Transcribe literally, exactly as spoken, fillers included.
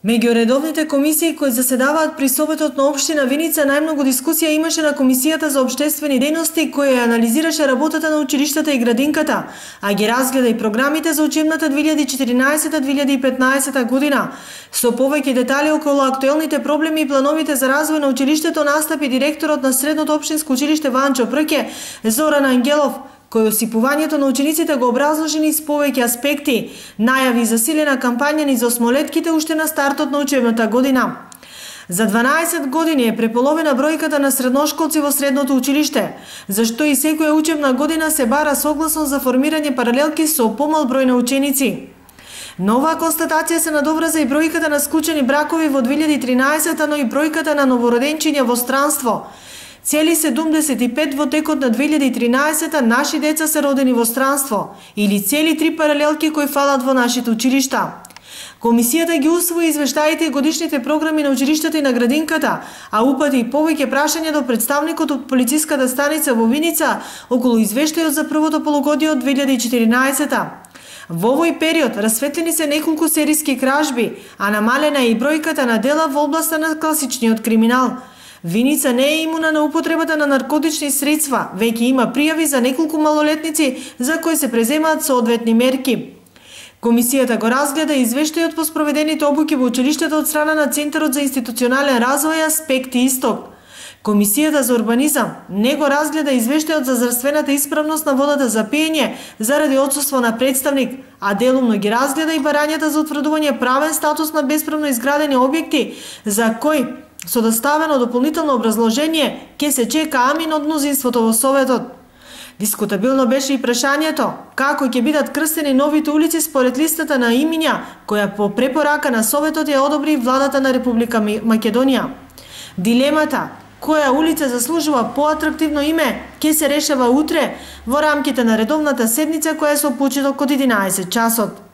Меѓу редовните комисии кои заседаваат при Советот на општина Виница, најмногу дискусија имаше на Комисијата за општествени дејности, која анализираше работата на училиштата и градинката, а ги разгледа и програмите за учебната две илјади и четиринаесета - две илјади и петнаесета година. Со повеќе детали околу актуелните проблеми и плановите за развој на училиштето настапи директорот на Средното општинско училиште Ванчо Прке, Зоран Ангелов, кој осипувањето на учениците го образложи низ повеќе аспекти, најави засилена кампања низ осмолетките уште на стартот на учебната година. За дванаесет години е преполовена бројката на средношколци во средното училиште, зашто и секоја учебна година се бара согласно за формирање паралелки со помал број на ученици. На оваа констатација се надоврза и бројката на склучени бракови во две илјади и тринаесета, но и бројката на новороденчиња во странство. Цели седумдесет и пет во текот на две илјади и тринаесета наши деца се родени во странство, или цели три паралелки кои фалат во нашите училишта. Комисијата ги усвои извештаите и годишните програми на училиштата и на градинката, а упати и повеќе прашања до представникот од полициската станица во Виница околу извештајот за првото полугодие од две илјади и четиринаесета. Во овој период расветлени се неколку сериски кражби, а намалена е и бројката на дела во областа на класичниот криминал. Виница не е имуна на употребата на наркотични средства, веќе има пријави за неколку малолетници за кои се преземаат соодветни мерки. Комисијата го разгледа извештајот по спроведените обуки во училиштето од страна на Центарот за институционален развој Аспекти Исток. Комисијата за урбанизам не го разгледа извештајот за здравствената исправност на водата за пиење заради отсуство на представник, а делумно ги разгледа и барањата за утврдување правен статус на бесправно изградени објекти за кои со доставено дополнително образложение ќе се чека амин од мнозинството во Советот. Дискутабилно беше и прашањето како ќе бидат крстени новите улици според листата на имиња која по препорака на Советот ја одобри владата на Република Македонија. Дилемата која улица заслужува поатрактивно име ќе се решава утре во рамките на редовната седница која е со почеток од единаесет часот.